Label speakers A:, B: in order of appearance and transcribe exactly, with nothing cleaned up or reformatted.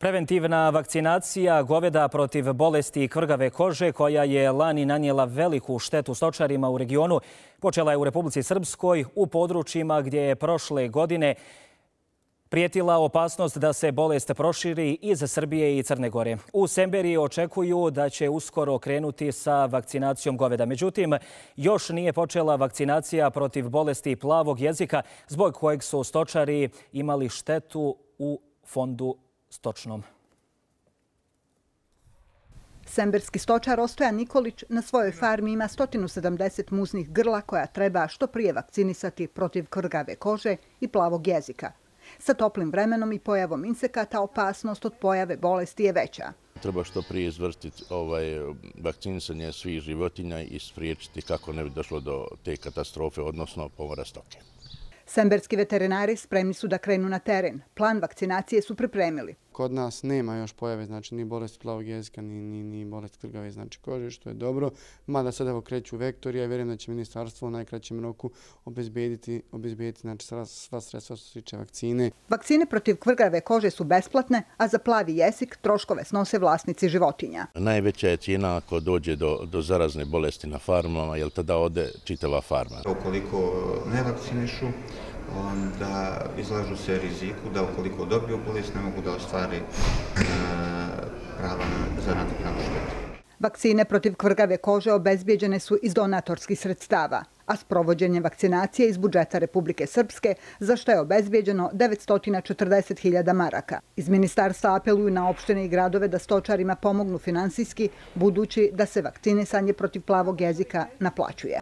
A: Preventivna vakcinacija goveda protiv bolesti kvrgave kože, koja je lani nanijela veliku štetu stočarima u regionu, počela je u Republici Srpskoj, u područjima gdje je prošle godine prijetila opasnost da se bolest proširi iz Srbije i Crne Gore. U Semberiji očekuju da će uskoro krenuti sa vakcinacijom goveda. Međutim, još nije počela vakcinacija protiv bolesti plavog jezika, zbog kojeg su stočari imali štetu u fondu stočnom.
B: Semberski stočar Ostojan Nikolić na svojoj farmi ima sto sedamdeset muznih grla koja treba što prije vakcinisati protiv kvrgave kože i plavog jezika. Sa toplim vremenom i pojavom insekata opasnost od pojave bolesti je veća.
C: Treba što prije izvršiti ovaj, vakcinisanje svih životinja i spriječiti kako ne bi došlo do te katastrofe, odnosno pomora stoke.
B: Semberski veterinari spremni su da krenu na teren. Plan vakcinacije su pripremili.
D: Kod nas nema još pojave, znači ni bolesti plavog jezika, ni, ni, ni bolesti kvrgave znači kože, što je dobro. Mada sad evo kreću vektori, ja vjerujem da će ministarstvo u najkraćem roku obezbediti, obezbediti znači, sva sredstva što se tiče vakcine.
B: Vakcine protiv kvrgave kože su besplatne, a za plavi jezik troškove snose vlasnici životinja.
C: Najveća je cijena ako dođe do, do zarazne bolesti na farmama, jer tada ode čitava farma.
E: Ukoliko ne vakcinišu, onda izlažu se riziku da ukoliko dobiju bolest ne mogu da ostvari prava za nadoknadu štete.
B: Vakcine protiv kvrgave kože obezbijeđene su iz donatorskih sredstava, a sprovođenje vakcinacije iz budžeta Republike Srpske, za što je obezbijeđeno devetsto četrdeset hiljada maraka. Iz ministarstva apeluju na opštine i gradove da stočarima pomognu finansijski, budući da se vakcinisanje protiv plavog jezika naplaćuje.